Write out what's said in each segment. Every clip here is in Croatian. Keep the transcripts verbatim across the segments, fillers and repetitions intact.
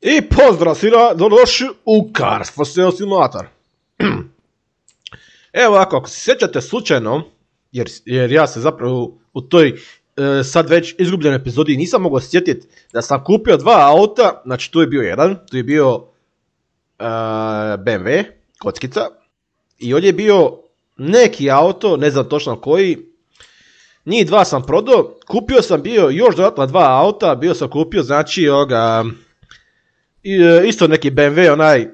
I pozdrav svima, dobrodošli u Cars for Sale Simulator. Evo ovako, ako se sjećate slučajno, jer, jer ja se zapravo u toj e, sad već izgubljenoj epizodi nisam mogao sjetiti da sam kupio dva auta, znači tu je bio jedan, tu je bio e, B M W, kockica, i ovdje je bio neki auto, ne znam točno koji, njih dva sam prodao, kupio sam bio još dodatno dva auta, bio sam kupio znači ovoga... I, isto neki B M W, onaj,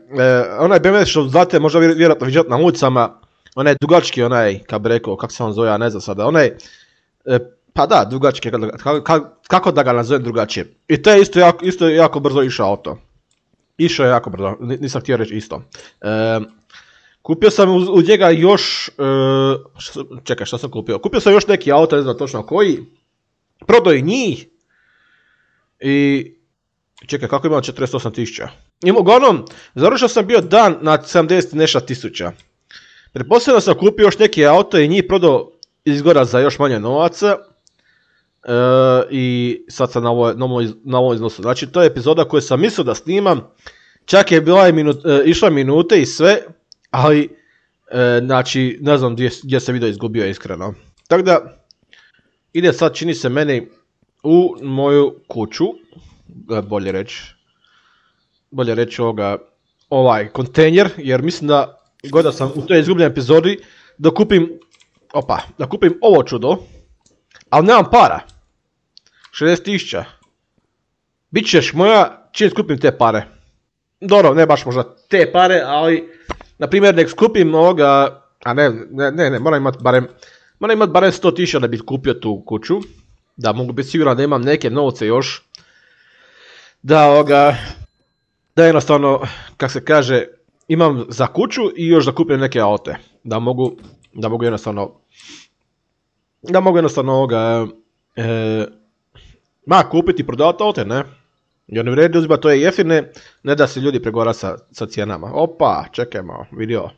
onaj B M W što znate možda vjerojatno vidjeti na ulicama, onaj dugački, onaj, kako bi rekao, kako se on zove, ja ne znam sada, onaj, pa da, dugački, kako, kako da ga nazovem drugačije. I to je isto jako, isto jako brzo išao auto. Išao je jako brzo, nisam htio reći isto. E, kupio sam u, u njega još, e, što, čekaj, što sam kupio? Kupio sam još neki auto, ne znam točno koji, prodao i njih i... Čekaj, kako imam četrdeset osam tisuća? Uglavnom, završio sam bio dan na sedamdeset nešto tisuća. Pretpostavljam sam kupio još neke auto i njih prodao izgora za još manje novaca. E, I sad sam na, ovo, na, ovo, na ovom iznosu. Znači, to je epizoda koju sam mislio da snimam. Čak je bila minut, e, išla minute i sve, ali e, znači, ne znam gdje, gdje se video izgubio iskreno. Tako da, ide sad, čini se meni, u moju kuću. Bolje reći, bolje reći ovoga, ovaj kontejner, jer mislim da god sam u toj izgubljenoj epizodi da kupim, opa, da kupim ovo čudo, ali nemam para, šezdeset tisuća, bit ćeš moja čim skupim te pare, dobro, ne baš možda te pare, ali, na primjer, nek skupim ovoga, a ne, ne, ne, ne moram imati barem, moram imati barem sto tisuća da bi kupio tu kuću, da mogu biti siguran da imam neke novce još, da ovoga, da jednostavno, kak se kaže, imam za kuću i još da kupim neke aute, da mogu, da mogu jednostavno, da mogu jednostavno ovoga, e, ma kupiti i prodavati aute, ne, jer ne vredi uzimati to je jeftine, ne da se ljudi pregovara sa, sa cijenama, opa, čekaj malo, vidio.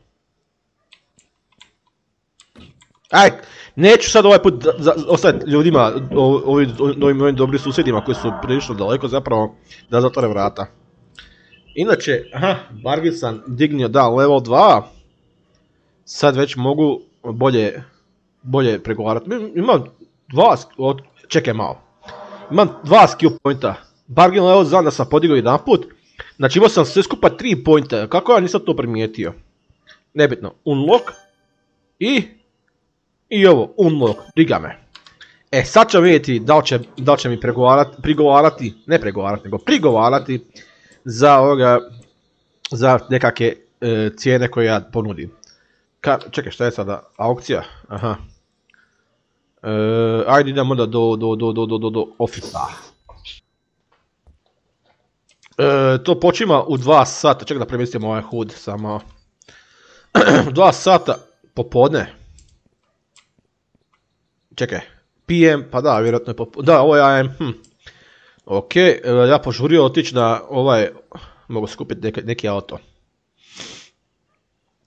Aj, neću sad ovaj put ostaviti ljudima, ovim ovim dobrim susjedima koji su prilično daleko zapravo da zatvore vrata. Inače, aha, bargain sam dignio, da, level dva, sad već mogu bolje, bolje pregovarati. Imam dva, čekaj malo, imam dva skill pointa, bargain level znam da sam podigao jedan put, znači imao sam sve skupa tri pointa, kako ja nisam to primijetio? Nebitno, unlock i... I ovo, unlock, briga me. E, sad ćemo vidjeti da li će, da li će mi pregovarati, prigovarati, ne pregovarati, nego prigovarati za ovoga, za nekakve e, cijene koje ja ponudim. Ka, čekaj, šta je sada? Aukcija? Aha. E, ajde idemo da do, do, do, do, do, do, do ofisa. E, to počima u dva sata, čekaj da premjestim ovaj hud samo. dva sata popodne. Čekaj, P M, pa da, vjerojatno je popodne, da, ovo je A M, hm. Ok, ja požurio otići na ovaj, mogu skupiti neki, neki auto.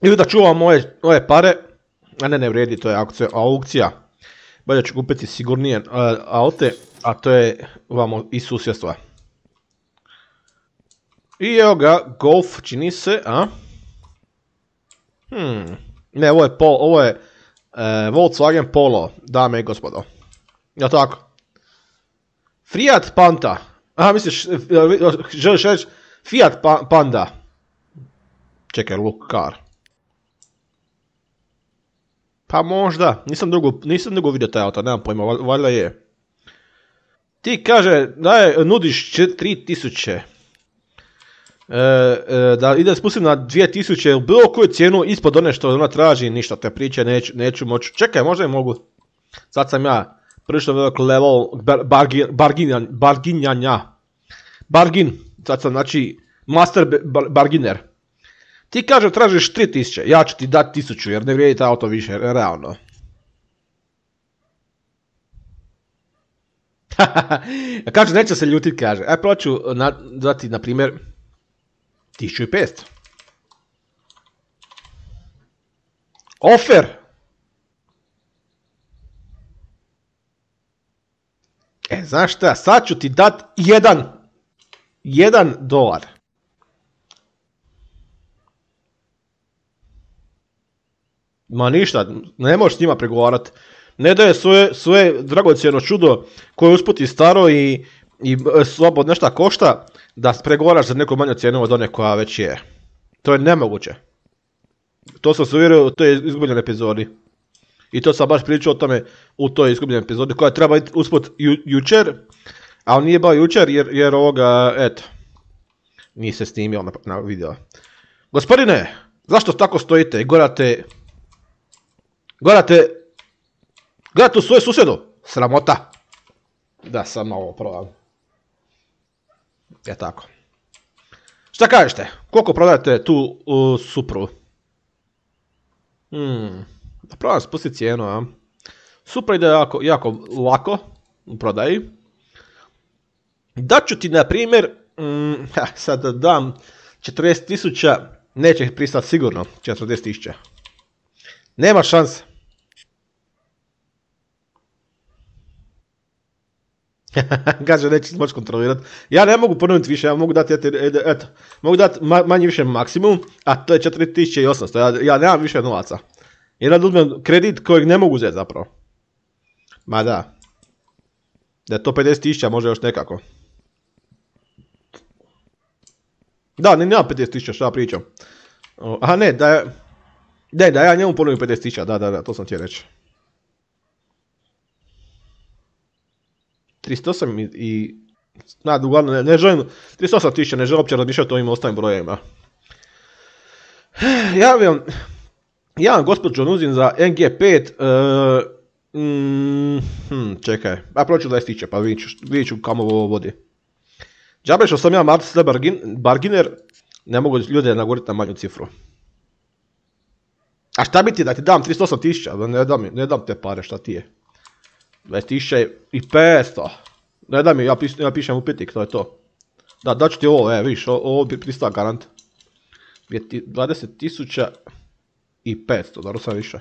Ili da čuvam ove, ove pare, a ne, ne vredi, to je aukcija, aukcija. Bolje ću kupiti sigurnije uh, aute, a to je vamo iz susjedstva. I evo ga, Golf čini se, a? Hmm, ne, ovo je Pol, ovo je... Uh, Volkswagen Polo, dame i gospodo. Jel' tako? Fiat Panda. Aha, misliš, želiš reći Fiat pa Panda. Čekaj, look car. Pa možda, nisam dugo, nisam dugo vidio taj auto, nemam pojma, valjda je. Ti kaže, da je, nudiš tri tisuće. E, e, da ide spustim na dvije tisuće, bilo koju cijenu ispod one što ona traži, ništa te priče, neću, neću moći. Čekaj, možda i mogu. Sad sam ja prilično velik level bargin, bargin, barginjanja. Bargin, sad sam znači master bar, barginer. Ti kaže tražiš tri tisuće, ja ću ti dati tisuću jer ne vrijedi ta auto više, realno. Kaže, neće se ljutit, kaže. E, prvo ću na, dati, na primjer, tisuću petsto. Ofer. E, znaš šta, sad ću ti dat jedan, jedan dolar. Ma ništa, ne možeš s njima pregovarati. Ne daje svoje, svoje dragocjeno čudo koje je usput i staro i, i slabo nešto košta, da pregovaraš za neku manju cijenu od one koja već je. To je nemoguće. To sam se uvjerio u toj izgubljenoj epizodi. I to sam baš pričao o tome u toj izgubljenoj epizodi koja treba biti usput ju, jučer, ali nije bao jučer jer, jer ovoga, eto, nije se snimio na, na video. Gospodine, zašto tako stojite i gorate, gorate, gorate u svoju susjedu? Sramota. Da, sam malo probam. Je tako. Šta kažete? Koliko prodajete tu uh, Supru? Hmm, da probam spustiti cijenu, a? Supra ide jako, jako lako u prodaji. Daću ti, na primjer, mm, sad da dam četrdeset tisuća, neće ih pristati sigurno, četrdeset tisuća. Nema šanse. Kaže, neće moći kontrolirati. Ja ne mogu ponoviti više, ja mogu dati, eto, eto mogu dati manje više maksimum, a to je četiri tisuće osamsto, ja, ja nemam više novaca. Jer da uzmem kredit kojeg ne mogu uzeti zapravo. Ma da. Da je to pedeset tisuća, može još nekako. Da, ne, nema pedeset tisuća, šta pričam. Aha, ne, da je... Ne, da ja njemu ponovim pedeset tisuća, da, da, da, to sam ti reći. tristo osam i... i na, uglavnom, ne, ne želim... tristo osam tisuća, ne želim uopće razmišljati o ovim ostalim brojevima. Ja vam... Ja vam gospođo nuzim za N G pet... Uh, mm, hm, čekaj, a proću dvadeset tisuća, pa vidit ću kamo ovo vodi. Džabe što sam ja Marcel bargin, Barginer, ne mogu ljude naguriti na manju cifru. A šta bi ti da ti dam tristo osam tisuća, ne dam, ne dam te pare, šta ti je? dvadeset tisuća i petsto. Ne dam mi, ja, pis, ja pišem upitnik, to je to. Da, daću ti ovo, e, viš, ovo bi pristao garant. dvadeset tisuća i petsto, dobro sam više.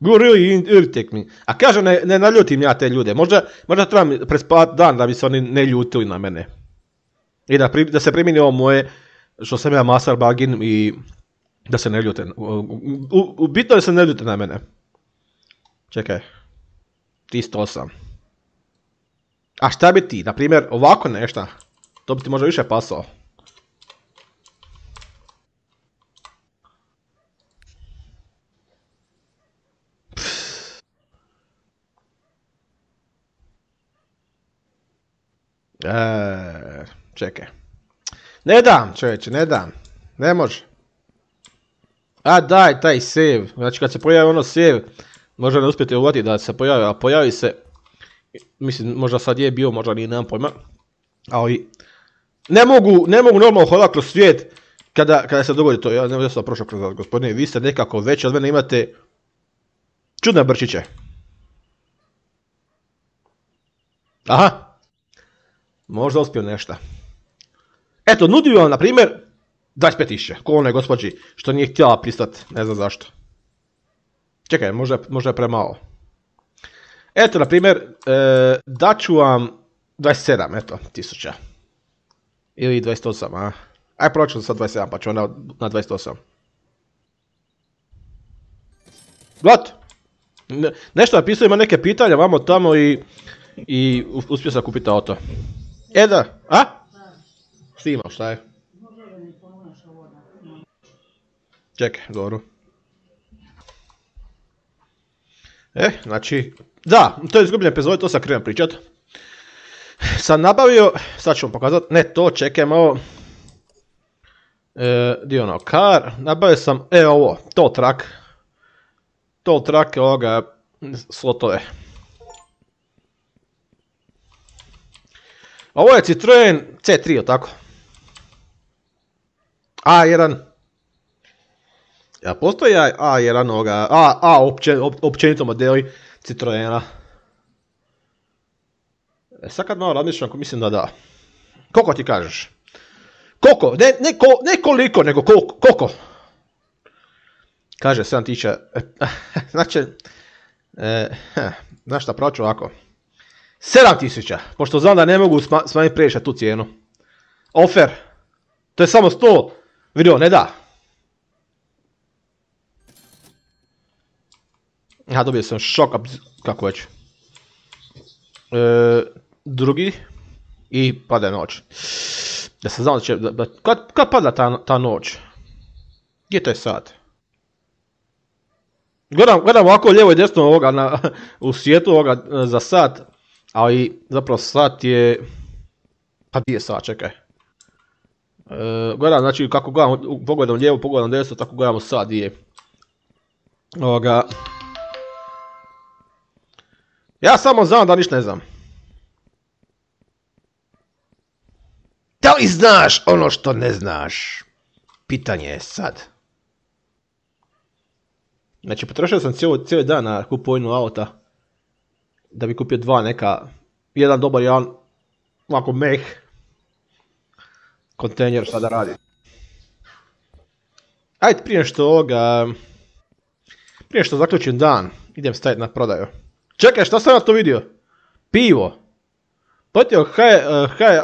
You really irritate me. A kaže, ne, ne naljutim ja te ljude. Možda, možda trebam prespavati dan da bi se oni ne ljutili na mene. I da, pri, da se primjeni ovo moje, što sam ja Master Bagin i da se ne ljute. U, u, u, bitno da se ne ljute na mene. Čekaj. tristo osam. A šta bi ti, na primjer, ovako nešto? To bi ti možda više pasao. Eee, čekaj. Ne dam, čovječe, ne dam. Ne može. A daj, taj save. Znači kad se pojavi ono save, možda ne uspijete uvatiti da se pojavi, a pojavi se. Mislim, možda sad je bio, možda nije, nemam pojma. Ali, ne mogu, ne mogu normalno hodati kroz svijet kada, kada se dogodi to. Ja ne znam da sam prošao kroz vas, gospodine, vi ste nekako već od mene imate čudne brčiće. Aha. Možda uspio nešto. Eto, nudio vam, na primjer, dvadeset pet tisuća, ko onoj gospođi što nije htjela pristati, ne znam zašto. Čekaj, možda, možda je premalo. Eto, na primjer, e, daću vam dvadeset sedam, eto, tisuća. Ili dvadeset osam, a? Aj, proću sa dvadeset sedam, pa ću onda na dvadeset osam. Gledajte. Ne, nešto napisao, ima neke pitanja, vamo tamo i, i uspio sam kupiti auto. E da, a? Snimao, šta je? Čekaj, dobro. E, znači, da, to je izgubljena epizoda, to sam krenuo pričat. Sam nabavio, sad ću vam pokazati, ne to, čekaj malo. E, dio ono, car, nabavio sam, e ovo, tow truck. Tow truck, ovoga, slotove. Ovo je Citroen C tri, tako? A jedan. Ja, postoji A jedan ovoga, A, A opće, op, općenito modeli Citroena. E, sad kad malo razmišljam, mislim da da. Koliko ti kažeš? Koliko? Ne, ne, ko, ne koliko, nego koliko? koliko? Kaže sedam tisuća. Znači, e, znaš šta, proću ovako. sedam tisuća, pošto znam da ne mogu smanjiti previše tu cijenu. Offer. To je samo sto. Vidio, ne da. Ja dobio sam šok, kako već. E, drugi. I pada noć. Da sam znao da će, da, da, kad, kad pada ta, ta noć? Gdje to je sad? Gledam, gledam ovako lijevo i desno ovoga na, u svijetu ovoga za sat, ali zapravo sat je... Pa gdje je sat, čekaj. E, gledam, znači kako gledam, pogledam lijevo, pogledam desno, tako gledamo sat gdje je. Ovoga... Ja samo znam da ništa ne znam. Da li znaš ono što ne znaš? Pitanje je sad. Znači, potrošio sam cijeli, cijeli dan na kupovinu auta. Da bi kupio dva neka. Jedan dobar, jedan ovako meh. Kontejner, šta da radi. Ajde, prije što ovoga... Prije što zaključim dan, idem staviti na prodaju. Čekaj, šta sam ja to vidio? Pivo. Pletio high, uh, high,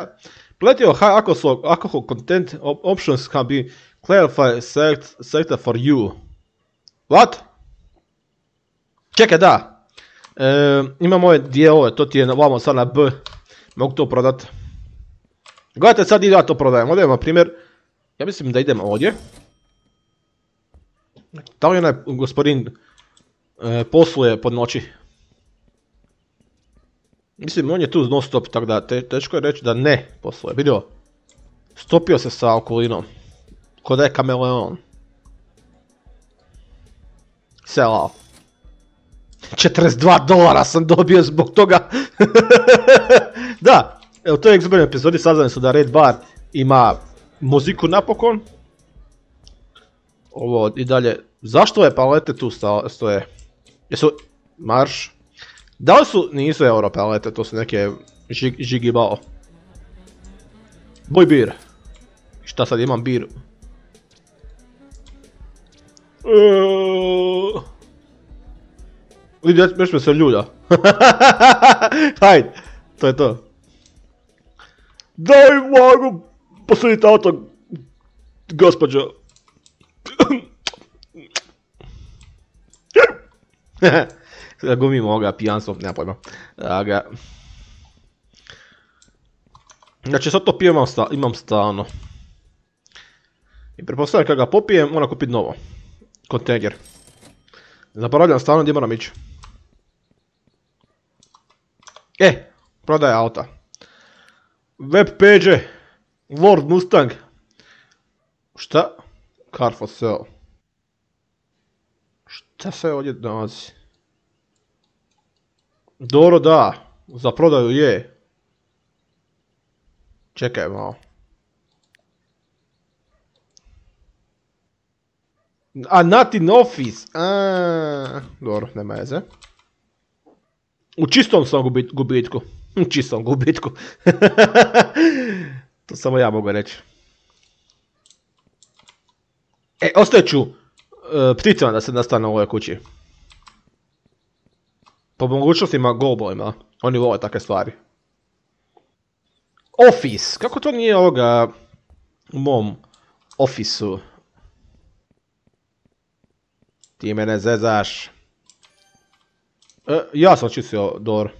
pletio high alcohol, alcohol content options can be clarified select, selected for you. What? Čekaj, da. E, imam ove dijelove, to ti je vamo sad na B. Mogu to prodat. Gledajte, sad ja to prodajem. Ovdje na primjer, ja mislim da idem ovdje. Da li onaj gospodin e, posluje pod noći? Mislim, on je tu non stop, tako da te, teško je reći da ne posluje. Vidio? Stopio se sa okolinom. Ko da je kameleon. Selao. četrdeset dva dolara sam dobio zbog toga. Da, u toj ekzibirnoj epizodi saznali su da Red Bar ima muziku napokon. Ovo i dalje. Zašto ove palete tu stoje? Jesu marš? Da li su? Nisu euro palete, to su neke žig, žigibao. Boj bir. Šta sad imam bir? Uh... Vidi, već me se ljulja. Hajde, to je to. Daj mogu posuditi auto, gospođo. Gumimo ovoga pijanstvo, nema pojma. Aga. Znači sad to pijem imam, sta, imam stalno. I pretpostavljam kad ga popijem, moram kupiti novo. Kontejner. Zaboravljam stalno gdje moram ići. E, prodaje auta. Web page, Lord Mustang. Šta? Car for sale. Šta se ovdje nalazi? Dobro, da. Za prodaju je. Čekaj malo. A, not in office. A, dobro, nema veze. U čistom sam gubit, gubitku. U čistom gubitku. To samo ja mogu reći. E, ostavit ću uh, pticama da se nastane u ovoj kući. Po mogućnostima golubovima. Oni vole takve stvari. Office. Kako to nije ovoga u mom ofisu? Ti mene zezaš. E, ja sam čistio dobro.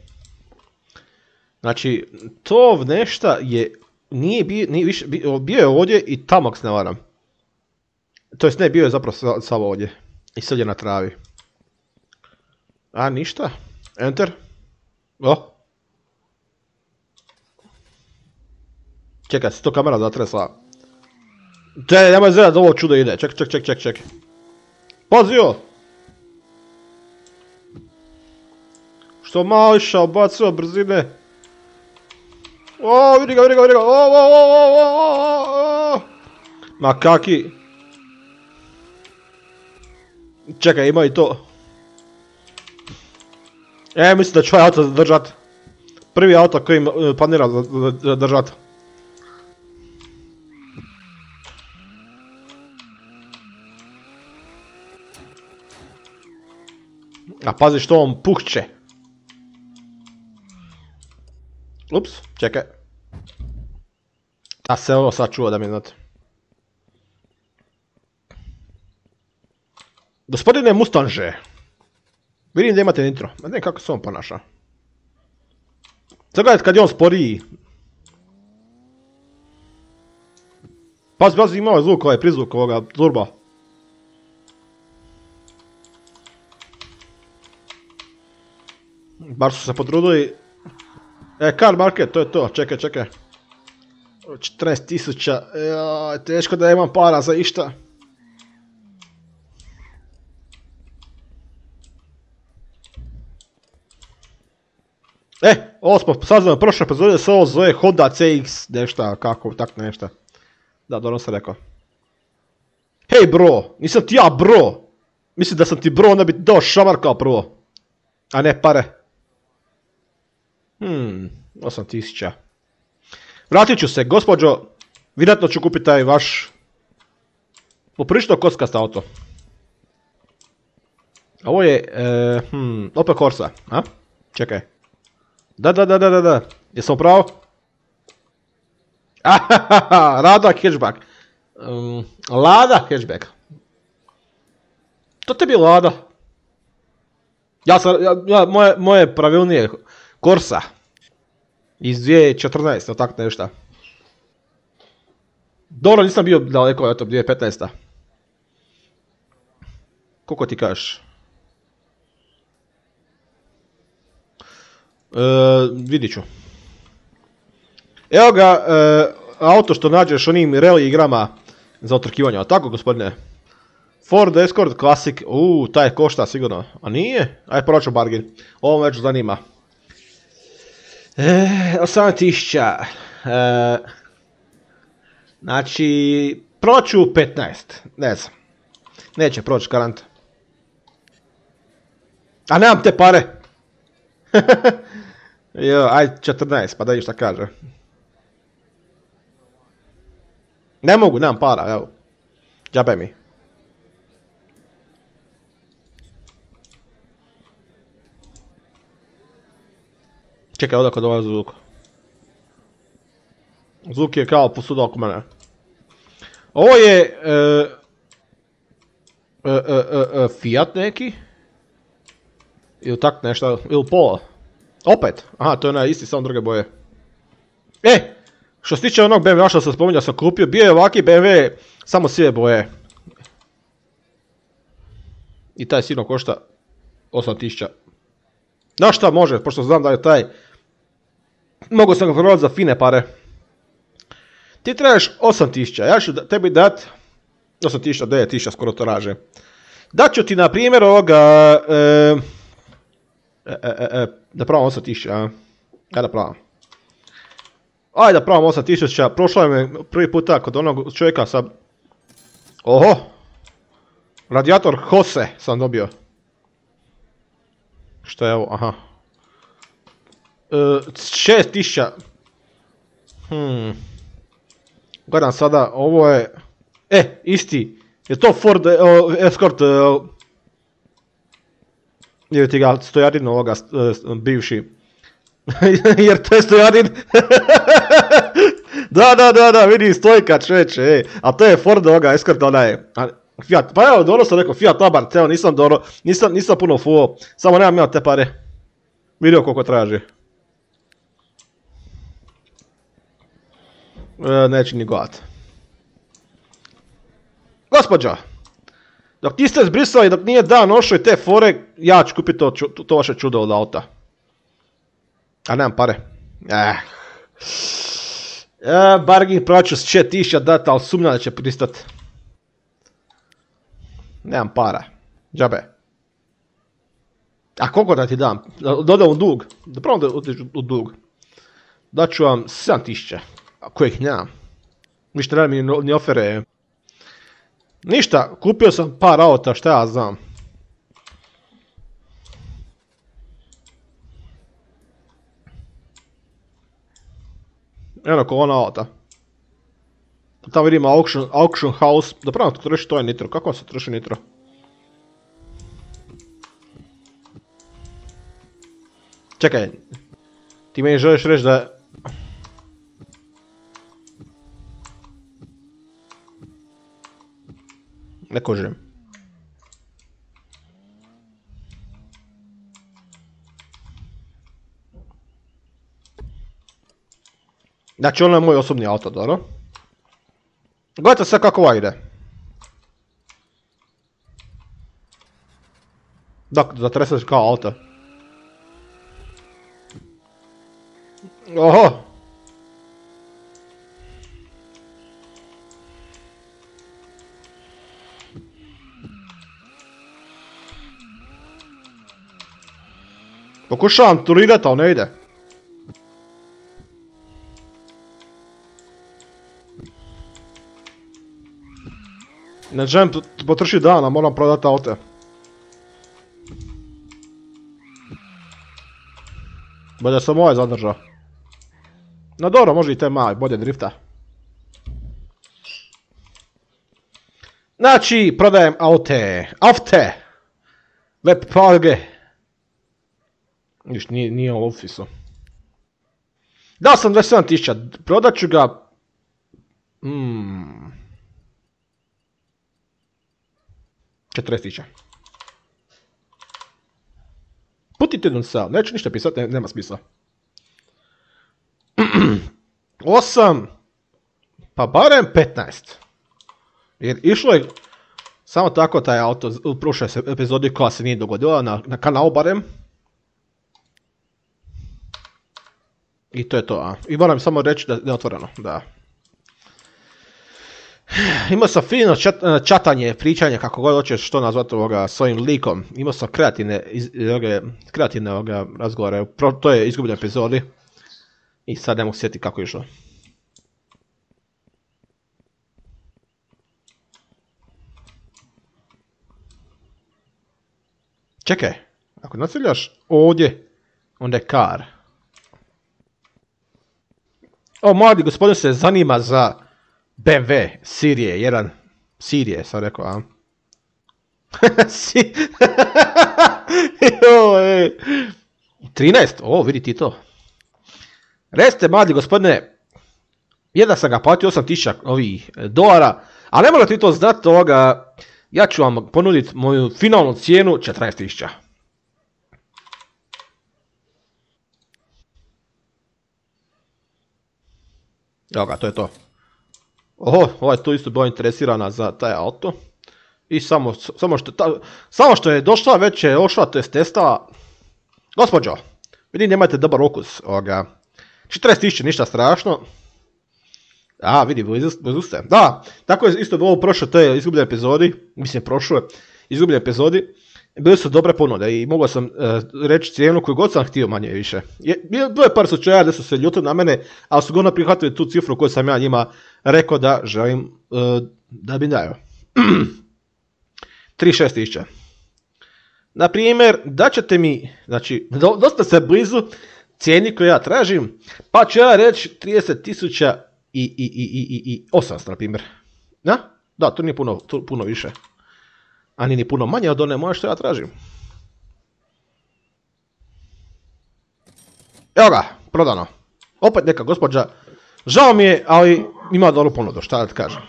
Znači, to nešta je... Nije bio, nije više, bio je ovdje i tamo ako se ne varam. To jest ne, bio je zapravo samo ovdje. I sad je na travi. A, ništa. Enter. O. Čekaj, se to kamera zatresla. Čekaj, nemoj zreda da ovo čudo ide. Ček, ček, ček, ček, ček. Pazio! Što malo išao, bacio brzine. O, vidi ga, vidi ga, vidi ga. O, o, o, o, o, o. Ma kaki. Čekaj, ima i to. E, mislim da ću ovaj auto zadržat. Prvi auto koji planira zadržat. A pazi što on puhće. Ups, čekaj. A se ovo sad čuo da mi znate. Gospodine Mustanže. Vidim da imate nitro. Ne znam kako se on ponaša. Sad gledajte kad je on sporiji. Pazi, pazi, imao je zvuk ovaj prizvuk ovoga turba. Bar su se potrudili. E, car market, to je to, čekaj, čekaj. četrnaest tisuća, joj, teško da imam para za išta. E, ovo smo saznali prošle epizode, se ovo zove Honda C X, nešta, kako, tak nešta. Da, dobro sam rekao. Hej bro, nisam ti ja bro. Mislim da sam ti bro, onda bi ti dao šamar kao prvo. A ne pare. Hmm, osam tisuća. Vratit ću se, gospođo. Vjerojatno ću kupiti taj vaš poprilično kockast auto. Ovo je, e, hmm, Opel Corsa, a? Čekaj. Da, da, da, da, da, da. Jesam pravo? Ahahaha, Lada hatchback. Um, Lada hatchback. To tebi je Lada. Ja sam, ja, ja, moje, moje pravilnije Corsa. Iz dvije tisuće četrnaeste, tako nešto. Dobro, nisam bio daleko, eto, dvije tisuće petnaeste. Koliko ti kažeš? E, vidit ću. Evo ga, e, auto što nađeš onim rally igrama za otrkivanje, tako gospodine? Ford Escort Classic, uuu, taj košta sigurno, a nije? Ajde proću bargain, ovo me već zanima. E, osam tisuća, e, znači, proću petnaest, ne znam, neće proći garant. A nemam te pare. Jo, aj četrnaest, pa da vidim šta kaže. Ne mogu, nemam para, evo. Džabe mi. Čekaj, odakle dolazi zvuk. Zvuk je kao posuda oko mene. Ovo je... E, e, e, e, Fiat neki. Ili tak nešto, ili Polo. Opet, aha, to je onaj isti, samo druge boje. E, što se tiče onog B M W što sam spominjao sam kupio, bio je ovaki B M W, samo sive boje. I taj sigurno košta osam tisuća. Znaš šta može, pošto znam da je taj... Mogu sam ga prodati za fine pare. Ti trebaš osam tisuća, ja ću tebi dat... osam tisuća, devet tisuća skoro to raže. Dat ću ti na primjer ovoga... E, E, e, e, da pravam osam tisuća, a? Ajde da pravam. Ajde da pravam osam tisuća, prošlo je me prvi puta kod onog čovjeka sa... Oho! Radijator Hose sam dobio. Što je ovo, aha. E, šest tisuća. Hmm. Gledam sada, ovo je... E, isti. Je to Ford e, Escort... E, jer ti ga Stojadin ovoga, bivši. Jer to je Stojadin. Da, da, da, da, vidi stojka čeče, ej. A to je Ford ovoga, Escort onaj. Fiat, pa evo, dobro sam rekao, Fiat Abarth, evo, nisam dobro, nisam, nisam puno fuo. Samo nemam ja te pare. Vidio koliko traži. E, neće ni gledat. Gospođo! Dok niste zbrisali, dok nije dan ošao i te fore, ja ću kupiti to, to vaše čudo od auta. A nemam pare. Eh. E, bargain praću s četiri tisuće data, ali sumnjam da će pristat. Nemam para. Džabe. A koliko da ti dam? Dodam u dug. Da pravom da otiš u dug. Daću vam sedam tisuća. A kojih nemam. Ništa ne mi ni ofere. Ništa, kupio sam par auta, šta ja znam. Eno ko ona auta. Tamo vidimo auction, auction house. Da pravno to troši, to je nitro. Kako se troši nitro? Čekaj. Ti meni želiš reći da... Ne kožem. Znači ono je moj osobni auto, dobro. Gledajte sve kako ovo ide. Dakle, zatreseš kao auto. Oho! Pokušavam turirati, ali ne ide. Ne želim potrošiti dana, moram prodati auto. Bolje sam ovaj zadržao. No dobro, može i te mali, bolje drifta. Znači, prodajem aute. Aute! Web parge. Viš, nije, nije u ofisu. Dao sam dvadeset sedam tisuća, prodat ću ga... Hmm... četrdeset tisuća. Putite jedan sal, neću ništa pisati, ne, nema smisla. osam, pa barem petnaest. Jer išlo je samo tako taj auto u prošloj epizodi koja se nije dogodila na, na kanalu barem. I to je to, a. I moram samo reći da je otvoreno, da. Imao sam fino čat, čatanje, pričanje, kako god hoćeš što nazvati ovoga s ovim likom. Imao sam kreativne, iz, ovoga, kreativne ovoga razgovore, Pro, to je izgubljena epizodi. I sad ne mogu sjetiti kako je išlo. Čekaj, ako nastavljaš ovdje, onda je kar. O, mladi gospodin se zanima za B M W Sirije jedan. Sirije sam rekao, a? trinaest, o, vidi ti to. Recite, mladi gospodine, jedan sam ga platio osam tisuća ovih dolara, a ne morate vi to znati ovoga, ja ću vam ponuditi moju finalnu cijenu četrnaest tisuća. Evo ga, to je to. Oho, ovaj tu isto bila interesirana za taj auto. I samo, samo, što, ta, samo što je došla, već je ošla, to je testala. Gospođo, vidim nemate dobar okus ovoga. četrdeset tisuća, ništa strašno. A, vidi, blizu ste. Da, tako je isto bilo u prošloj toj izgubljenoj epizodi. Mislim, prošloj izgubljenoj epizodi. Bili su dobre ponude i mogao sam uh, reći cijenu koju god sam htio manje više. Je, bilo je par slučaja da su se ljutili na mene, ali su godno prihvatili tu cifru koju sam ja njima rekao da želim uh, da bi dao. trideset šest tisuća. Na primjer, da ćete mi, znači, do, dosta se blizu cijeni koju ja tražim, pa ću ja reći trideset tisuća i, i, i, i, i osamsto, na primjer. Da? Da, to nije puno, to, puno više. A nije ni puno manje od one moje što ja tražim. Evo ga, prodano. Opet neka gospođa. Žao mi je, ali ima dobru ponudu, šta da ti kažem.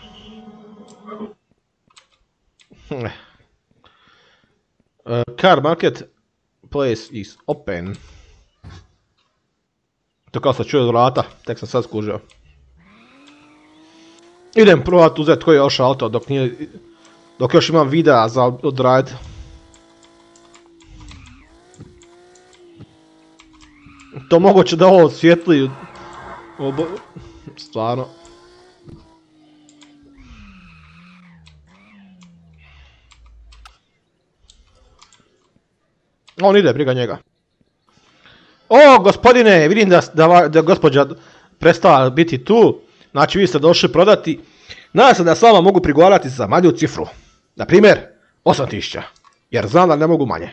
Uh, car market place is open. To kao sam čuo od vrata, tek sam sad skužio. Idem provat uzeti koji je još auto dok nije... Dok još imam videa za odraditi. To moguće da ovo osvijetli. Obo... Stvarno. On ide, briga njega. O, gospodine, vidim da, da, da gospođa prestala biti tu. Znači vi ste došli prodati. Nadam se da s vama mogu prigovarati za manju cifru. Na primjer, osam tisuća. Jer znam da ne mogu manje.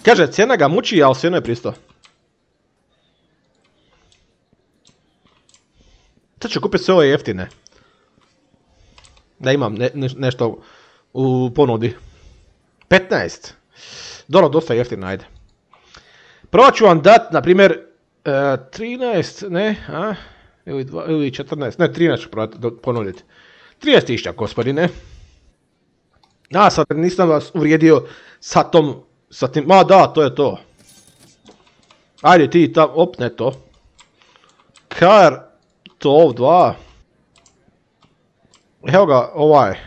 Kaže, cijena ga muči, ali sve je pristo. Sad ću kupiti sve ove jeftine. Da imam ne, ne, nešto u ponudi. petnaest. Dobro, dosta jeftino, ajde. Prvo ću vam dat, na primjer, Uh, trinaest, ne, a, ili, dva, ili četrnaest, ne, trinaest ću ponuditi. trinaest tisuća, gospodine. A, sad nisam vas uvrijedio sa tom, sa tim, ma da, to je to. Ajde ti tam, op, ne to. Kar, to dva. Evo ga, ovaj.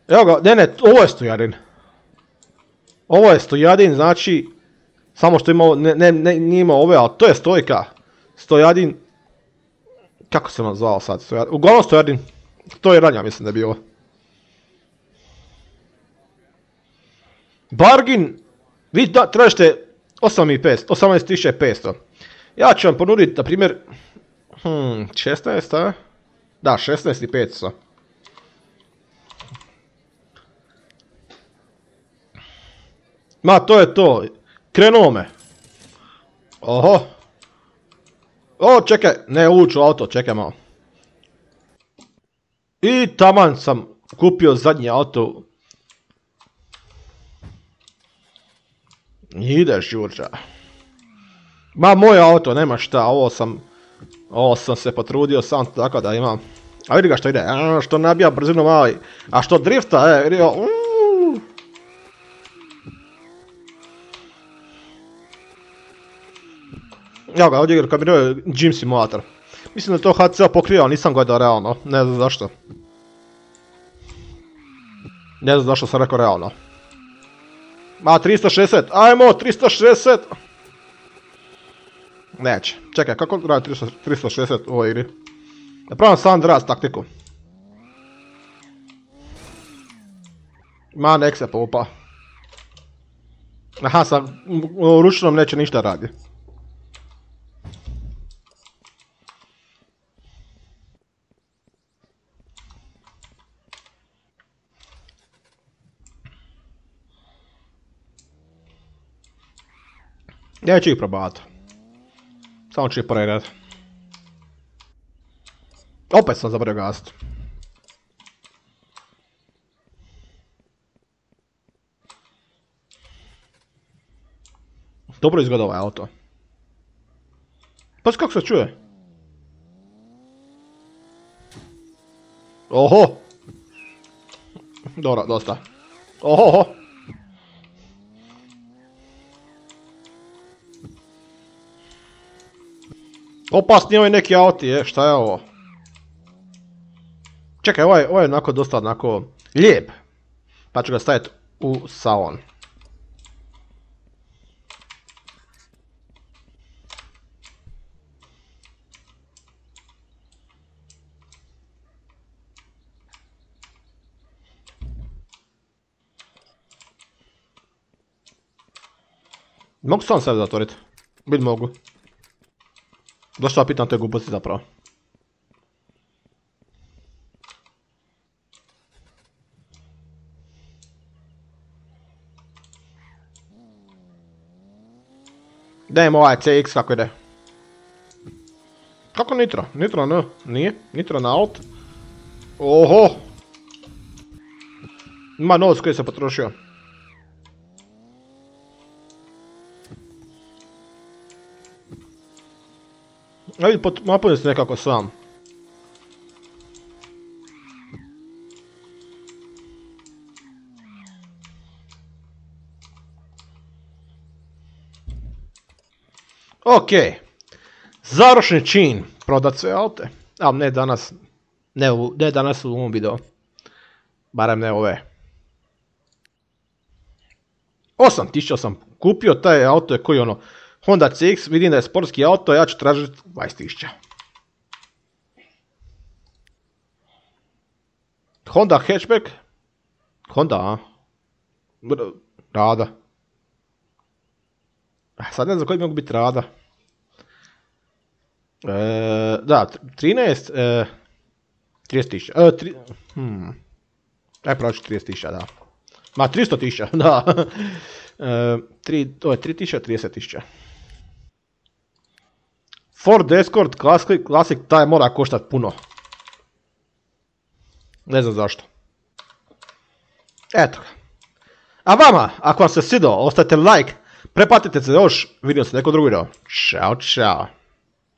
Evo ga, ne, ne, ovo je Stojadin. Ovo je Stojadin, znači, samo što ima, ne, ne, ne, nije imao ove, ali to je Stojka. Stojadin, kako se vam zvao sad, Stojadin, uglavnom Stojadin, to je ranja, mislim da je bilo. Bargin, vi da, tražite osamnaest tisuća petsto. Ja ću vam ponuditi, na primjer, hmm, šesnaest, a? Da, šesnaest i petsto. Ma, to je to. Krenuo me. Oho. O, čekaj, ne uđu auto, čekaj malo. I taman sam kupio zadnji auto. Ideš, Đurđa. Ma, moj auto, nema šta, ovo sam... Ovo sam se potrudio sam tako da imam. A vidi ga što ide, a, što nabija brzinu mali. A što drifta, e, vidi ga. Evo ga, ovdje kad mi je Gym Simulator. Mislim da to H C pokrio, ali nisam gledao realno, ne znam zašto. Ne znam zašto sam rekao realno. Ma, tristo šezdeset, ajmo, tristo šezdeset! Neće, čekaj, kako radi tristo šezdeset u ovoj igri? Napravim sam draz taktiku. Ma, nek se poupa. Aha, sa ručnom neće ništa radi. Neću ih probavati. Samo ću ih pregledati. Opet sam zaboravio gasiti. Dobro izgleda ovaj auto. Pa kako se čuje? Oho! Dobro, dosta. Oho! Opasni ovaj neki auti, je, šta je ovo? Čekaj, ovaj, ovaj je onako dosta onako lijep. Pa ću ga staviti u salon. Mogu sam sebe zatvoriti? Bil mogu. Zašto ja pitam te gluposti zapravo? Dajem ovaj C X kako ide. Kako nitro? Nitro ne, nije. Nitro na alt. Oho! Ima novac koji se potrošio. Ajde, napunio se nekako sam. Ok. Završni čin. Prodat sve aute. A ne danas. Ne, u, ne danas u ovom videu. Barem ne ove. osam tisuća sam kupio. Taj auto je koji ono... Honda C X, vidim da je sportski auto, ja ću tražiti dvadeset tisuća. Honda hatchback. Honda, a? Rada. Sad ne znam koji mogu biti rada. E, da, trinaest, e, trideset tisuća. E, tri, hmm. Aj pravi trideset tisuća, da. Ma, tristo tisuća, da. E, tri, to je tri tisuće, trideset tisuća. Ford Escort Classic, Classic, taj mora koštati puno. Ne znam zašto. Eto ga. A vama, ako vam se svidao, ostavite like, preplatite se još, vidio se neko drugi video. Ćao, čao.